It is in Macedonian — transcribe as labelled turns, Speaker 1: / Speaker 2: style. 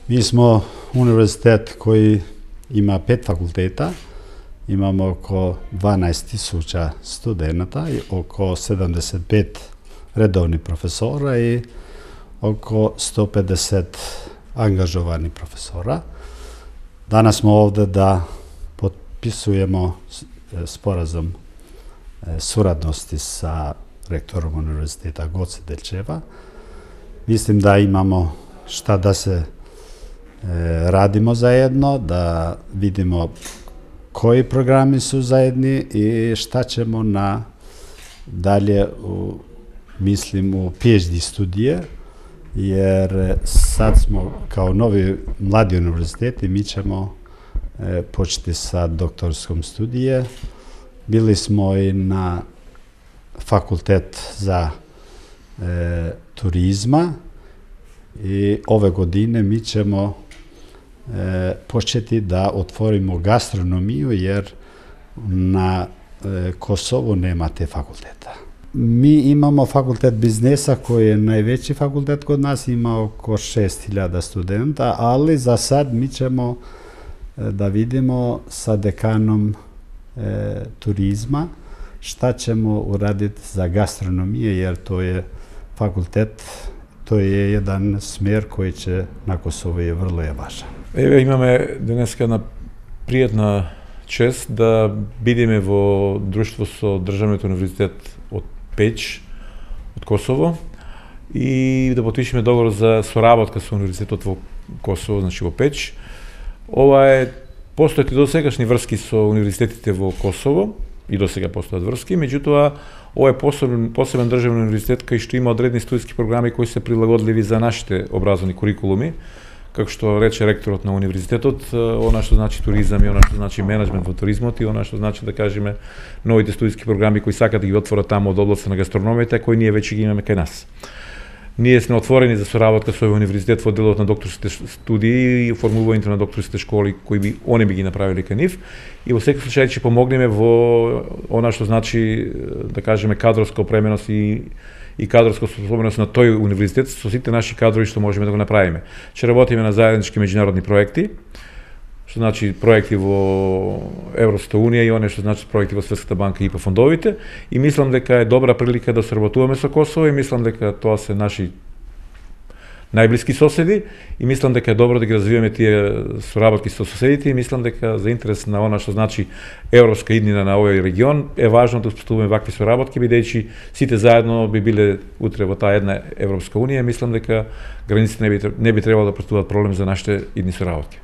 Speaker 1: Mi smo univerzitet koji ima 5 fakulteta, imamo oko 12.000 studenta i oko 75 redovnih profesora i oko 150 angažovanih profesora. Danas smo ovde da potpisujemo sporazum suradnosti sa rektorom Univerziteta Goce Delčeva. Mislim da imamo šta da se radimo zajedno, da vidimo koji programi su zajedni i šta ćemo na dalje mislim u PhD studije, jer sad smo kao novi mladi univerzitet i mi ćemo početi sa doktorskom studije. Bili smo i na fakultet za turizma i ove godine mi ćemo početi da otvorimo gastronomiju, jer na Kosovu nema te fakulteta. Mi imamo fakultet biznesa koji je najveći fakultet kod nas, ima oko 6.000 studenta, ali za sad mi ćemo da vidimo sa dekanom turizma šta ćemo uraditi za gastronomije, jer to je fakultet, to je jedan smer koji će na Kosovu je vrlo važan.
Speaker 2: Еве имаме денеска една пријатна чест да бидеме во друштво со Државниот универзитет од Печ, од Косово, и да потпишеме договор за соработка со Универзитетот во Косово, значи во Печ. Ова постојат и досегашни врски со универзитетите во Косово, и досега постојат врски, меѓутоа ова е посебен државен универзитет кај што има одредени студиски програми кои се прилагодливи за нашите образовни курикулуми. Како што рече ректорот на универзитетот, она што значи туризам и она што значи менеджмент во туризмот и она што значи, да кажеме, новите студиски програми кои сакат да ги отворат таму од областта на гастрономијата, кои ние веќе ги имаме кај нас. Ние сме отворени за соработка со овој универзитет во делот на докторските студии и формувањето на докторските школи кои они би ги направиле кај нив, и во секој случај ќе помогнеме во она што значи, да кажеме, кадровска опременост и кадровска способност на тој универзитет со сите наши кадрови што можеме да го направиме. Ќе работиме на заеднички меѓународни проекти, што значи проекти во Европската унија и оне што значи проекти во Светската банка и по фондовите, и мислам дека е добра прилика да соработуваме со Косово, и мислам дека тоа се наши најблиски соседи, и мислам дека е добро да ги развиваме тие соработки со соседите, и мислам дека за интерес на она што значи европска иднина на овој регион е важно да успоставуваме вакви соработки, бидејќи сите заедно би биле утре во таа една Европска унија. Мислам дека границите не би требало да представуваат проблем за нашите идни соработки.